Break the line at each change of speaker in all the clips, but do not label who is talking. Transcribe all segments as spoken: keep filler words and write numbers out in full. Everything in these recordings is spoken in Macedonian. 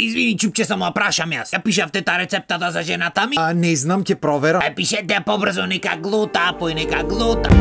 Извини, чупче, само ја прашам јас. Ја пишавте та рецептата за жената ми?
А не знам, ќе проверам.
Ај пишете ја побрзо, нека глута, пој нека глута.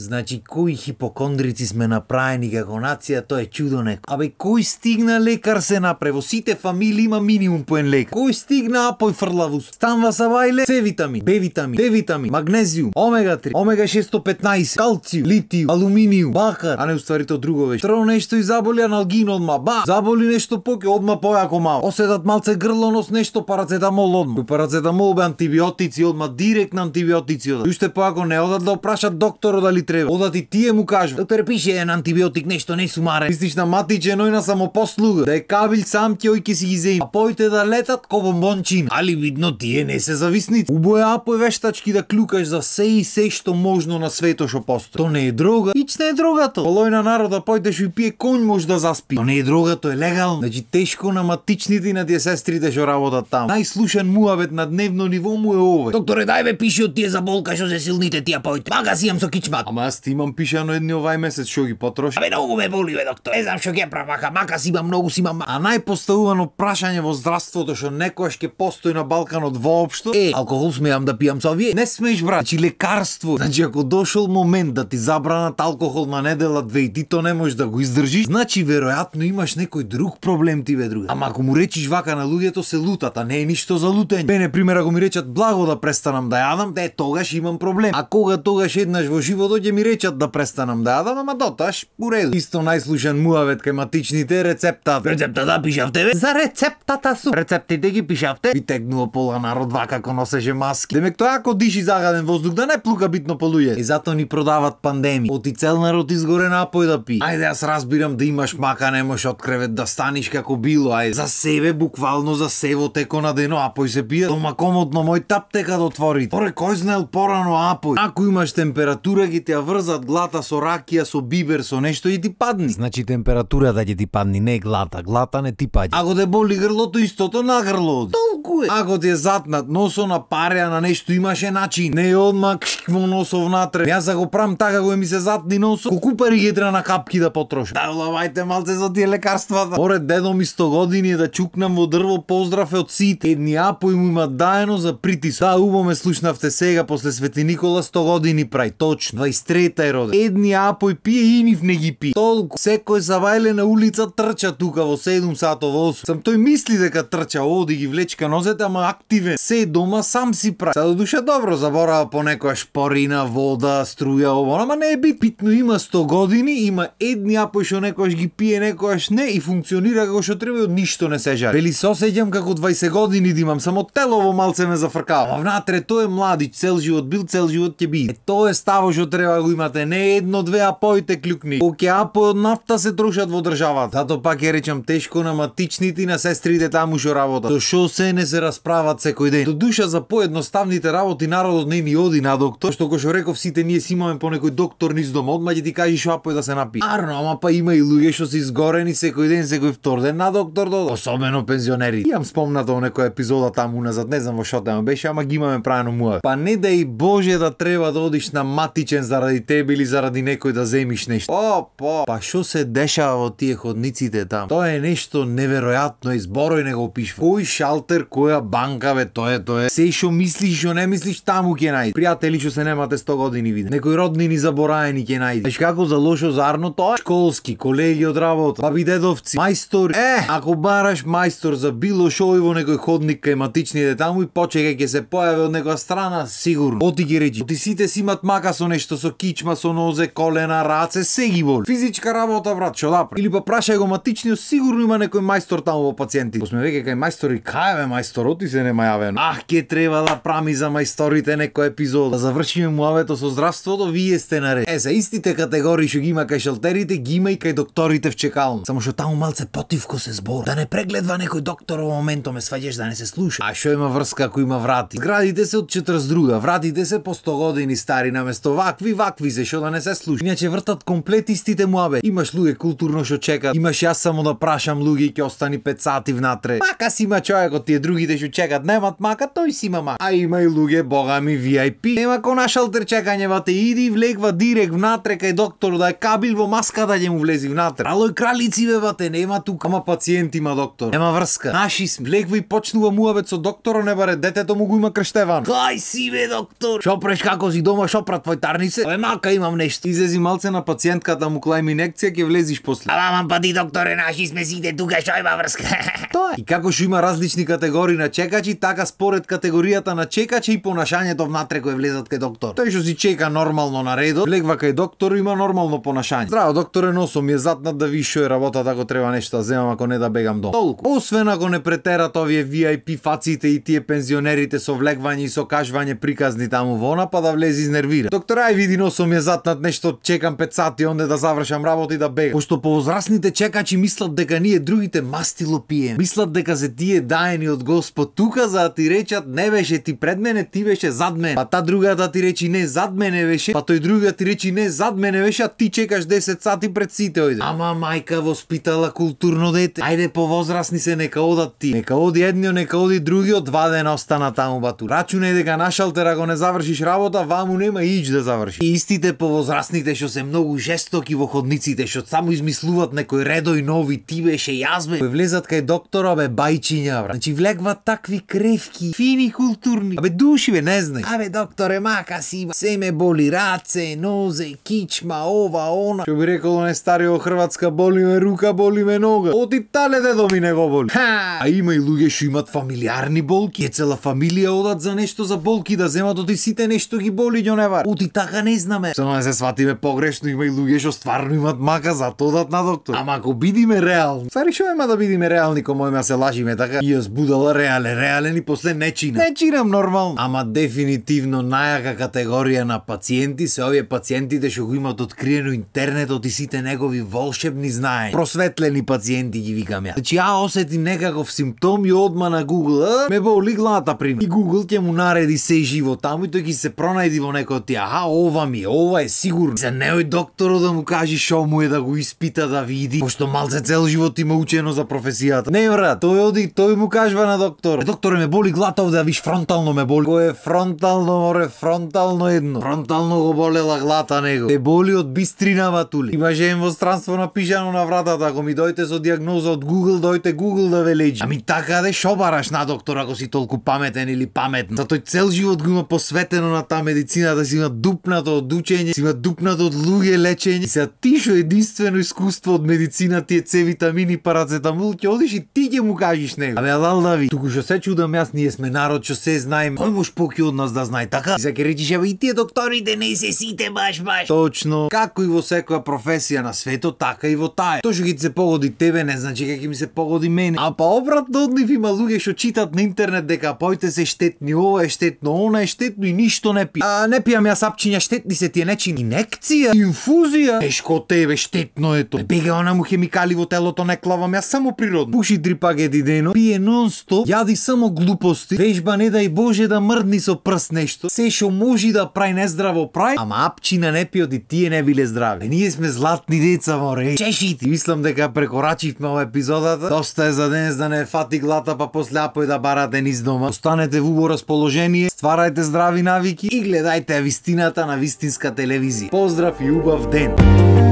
Значи, кои хипокондрици сме направени како нација, тоа е чудо неко. Абе, кој стигна лекар се направи? Во сите фамилии има минимум по еден лекар. Кој стигна апој фрлавус? Станва сабајле, С витамин, Б витамин, Д витамин, магнезиум, омега три, омега шестстотин и петнаесет, калциум, литиум, алуминиум, бакар, а не уствари тоа друго веќе. Тро нешто и заболи аналгин одма, ба, заболи нешто поќе одма појако мало. Оседат малце грлонос нешто парацетамол одма. Кој парацетамол бе антибиотици одма, директно антибиотици одат. Уште појако не одат да опрашат докторот дали треба. Одат и тие му кажува.
Доктор, пише еден антибиотик, нешто не сумаре.
Мислиш на матиче ној на самопослуга. Да е кабил сам ќе ој ќе си ги земи. А поите да летат ко бомбончина.
Али видно тие не се зависници.
Убоја апој вештачки да клюкаш за се и се што можно на свето што постои. То не е дрога. Ич не е дрогато. Полој на народа појде што и пие конј може да заспи.
То не е дрога, то е легално.
Значи тешко на матичните и на тие сестрите што работат таму. Најслушан муавет на дневно ниво му е овој.
Докторе, дај бе пиши од тие за болка што се силните тие поите. Мага си имам со кичмат.
Ама јас ти имам пишано едни овај месец што ги потроши.
Абе многу ме боли бе, доктор. Не знам што ќе правам, мака, мака си имам, многу си имам.
А најпоставувано прашање во здравството што некојаш ќе постои на Балканот воопшто
е: алкохол смеам да пијам со овие?
Не смееш, брат. Значи лекарство. Значи ако дошол момент да ти забранат алкохол на недела две и ти то не можеш да го издржиш, значи веројатно имаш некој друг проблем ти бе, друга. Ама ако му речиш вака на луѓето се лутат, а не е ништо за лутење. Бе, на пример, ако ми речат благо да престанам да јадам, де тогаш имам проблем. А кога тогаш еднаш во животот ќе ми речат да престанам да јадам, ама доташ уреду. Исто најслушан муавет кај матичните рецепта.
Рецептата пишавте бе?
За рецептата су.
Рецептите ги пишавте?
Ви тегнува пола народ вака како носеше маски. Демек тоа ако диши загаден воздух да не плука битно по луѓе. И затоа ни продават пандемии. Оти цел народ изгоре напој да пи. Ајде, јас разбирам да имаш мака, не можеш од кревет да станиш како било, ајде. За себе буквално за сево теко на дено апој се пие. Дома комодно мој таптека да отвори. Поре кој знаел порано апој. Ако имаш температура ги те ја врзат глата со ракија, со бибер, со нешто и ти падни. Значи температурата ќе ти падни, не глата, глата не ти паѓа. Ако те боли грлото, истото на грло. Толку е. Ако ти е затнат носо на пареа на нешто имаше начин. Не одма во носо внатре. Јас за го правам така кога ми се затни носо, колку пари ги треба на капки да потрошам. Да улавајте малце за тие лекарствата. Поред дедо ми сто години да чукнам во дрво, поздрав е од сите. Едни апој му има даено за притис. Да, убаво ме слушнавте сега после Свети Никола сто години прај. Точно. дваесет и трета е роден. Едни апој пие и нив не ги пие. Толку. Секој завајле на улица трча тука во седум сато во осум. Сам тој мисли дека трча, оди ги влечка нозете, ама активен. Се дома сам си прави. Са до душа добро, заборава по некоја шпорина, вода, струја, ово, ама не е бит. Питно има сто години, има едни апој што некојаш ги пие, некојаш не и функционира како што треба и од ништо не се жари. Вели се осеќам како дваесет години да имам, само телово малце ме зафркава. Ама внатре тој е младич, цел живот бил, цел живот ќе биде. Е, тоа е ставо што треба да го имате, не едно две апоите клюкни. Оке апој од нафта се трошат во државата. Зато пак ја речам тешко на матичните и на сестрите таму што работат. До шо се не се расправат секој ден. До душа за поедноставните работи народот не ни оди на доктор, што кој што реков сите ние си имаме по некој доктор низ дома, одма ќе ти кажи шо апој да се напие. Арно, ама па има и луѓе што се изгорени секој ден, секој втор ден на доктор додо. Особено пензионери. Имам спомнато во некоја епизода таму уназад, не знам во шо тема беше, ама ги имаме правено муа. Па не да и Боже да треба да одиш на матичен заради тебе или заради некој да земиш нешто. О, по. Па шо се дешава во тие ходниците таму? Тоа е нешто неверојатно, изборој не го опишува. Кој шалтер, која банка бе, тоа е, тоа е. Се што мислиш, што не мислиш, таму ќе најдеш. Пријатели што се немате сто години виде. Некои роднини забораени ќе најдеш. Знаеш како за лошо зарно тоа? Школски, колеги од работа, баби дедовци, мајстор. Е, ако бараш мајстор за било шо во некој ходник кај матичните таму и почека ќе се појави од некоја страна, сигурно. Оти ги речи. Оти сите си имат мака со нешто, со кичма, со нозе, колена, раце, се ги боли. Физичка работа, брат, што да прави? Или па прашај го матичниот, сигурно има некој мајстор таму во пациенти. Посме веќе кај мајстори, кај бе мајстор, оти се нема јавено. Ах, ке треба да прами за мајсторите некој епизод. Да завршиме муавето со здравството, вие сте наред. Е, за истите категории што ги има кај шалтерите, ги има и кај докторите в чекална. Само што таму малце потивко се збор. Да не прегледва некој доктор во моментот, ме сваѓаш да не се слуша. А што има врска ако има врати? Зградите се од четридесет и друга, вратите се по сто години стари, наместо вакви, вакви се што да не се слуша. Иначе вртат комплет истите муабе. Имаш луѓе културно што чекат. Имаш јас само да прашам луѓе ќе остани пет сати внатре. Мака си има човекот, тие другите што чекат немат мака, тој си има мака. А има и луѓе богами ви ај пи. Нема ко на шалтер чекање, вате иди влегва директ внатре кај доктор да е кабил во маска да ќе му влези внатре. Алој кралици бе бате, нема тука. Ама пациент има доктор. Нема врска. Наши влегва и почнува муабет со докторо, не баре детето му го има крштеван. Кај си бе доктор? Шо преш како си дома, шо прат твој тарнице? Е мака имам нешто. Излези малце на пациентката му клајм инекција, ќе влезиш после.
Ама па ти докторе, наши сме сите тука, шо има врска?
Тоа е. И како што има различни категории на чекачи, така според категоријата на чекачи и понашањето внатре кој влезат кај доктор. Тој што си чека нормално на редот, влегва кај доктор, има нормално понашање. Здраво докторе, носом ми е затнат да ви шо е работата ако треба нешто да земам, ако не да бегам дом. Толку. Освен ако не претерат овие ви ај пи фаците и тие пензионерите со влегвање и со кажвање приказни таму вона, па да влези изнервира. Доктор, ај види, носом ми е затнат нешто, чекам пет сати, онде да завршам работа и да бегам. Пошто повозрасните чекачи мислат дека ние другите мастило пием. Мислат дека се тие даени од Господ тука за да ти речат не беше ти пред мене, ти беше зад мене. Па та другата ти речи не зад мене беше, па тој другиот ти речи не зад мене беше, а ти чекаш десет сати пред сите ојде. Ама мајка воспитала културно дете. Ајде повозрасни се, нека одат ти. Нека оди едниот, нека оди другиот, два дена остана таму бату. Рачунај дека на шалтер ако не завршиш работа, ваму нема ич да завршиш. И истите повозрасните што се многу жестоки во ходниците, што само измислуваат некој редој нови, ти беше јас бе. Кој влезат кај доктора бе бајчиња бра. Значи влегват такви кревки, фини културни. Абе души бе, не знај. Абе докторе, мака си има. Се ме боли раце, нозе, кичма, ова, она. Што би рекол не старио Хрватска, боли ме рука, боли ме нога. Од Италија дедо ми не го боли. Ха! А има и луѓе што имат фамилиарни болки. Е цела фамилија одат за нешто за болки да земат од и сите нешто ги боли ѓоневар. Оти така не знаме. Само не се сватиме погрешно, има и луѓе што стварно имат мака за тоа одат на доктор. Ама ако бидиме реални. Стари шо ема да бидиме реални, кој мојме се лажиме така. И јас будала реален, реален и после не чина. Не чинам нормално. Ама дефинитивно најака категорија на пациенти се овие пациентите што го имат откриено интернетот и сите негови волшебни знаења. Просветлени пациенти ги викам ја. Значи ја осетим некаков симптом и одма на Google, а, ме боли главата пример. И Google ќе му нареди се живо таму и тој ќе се пронајди во некој од тие. Аха, ова ми е, ова е сигурно. За неој докторот да му кажи шо му е да го испита да види, пошто малце цел живот има учено за професијата. Не брат, тој оди, тој му кажува на доктор. Докторе, ме боли главата овде, да виш фронтално ме боли. Кој е фронтално, море, фронтално едно. Фронтално го болела главата него. Те боли од бистрина батули. Имаше едно странство напишано на вратата, ако ми дојте со диагноза од Google, дојте Google да ве лечи. Ами така де шо бараш на доктор ако си толку паметен или паметен. За тој цел живот го има посветено на таа медицина, да си има дупнато од учење, си има дупнато од луѓе лечење. И се ти шо единствено искуство од медицина, тие С витамини, парацетамол, ќе одиш и ти ќе му кажеш него. Абе алал да ви. Туку што се чудам јас, ние сме народ што се знаеме. Кој може поки од нас да знае така? И се ќе речиш, абе и тие докторите не се сите баш баш. Точно. Како и во секоја професија на светот, така и во таа. Тоа што ќе се погоди тебе не значи дека ќе ми се погоди мене. А па обратно од нив има луѓе што читат на интернет дека поите се штетни, ова е штетно, она е штетно и ништо не пи. А не пијам јас апчиња, штетни се тие нечи. Инекција, инфузија. Тешко тебе штетно е тоа. Бега она му хемикали во телото, не клавам јас само природно. Пуши три пакети дено, пие нон-стоп, јади само глупости, вежба не дај Боже да мрдни со прст нешто. Се што може да прави нездраво прави, ама апчина не пиот и тие не биле здрави. Е, ние сме златни деца, море. Чешите. Мислам дека прекорачивме ова епизодата. Доста е за денес да не фати глата, па после апој да барате низ дома. Останете во убаво расположение, стварајте здрави навики и гледајте вистината на вистинска телевизија. Поздрав и убав ден!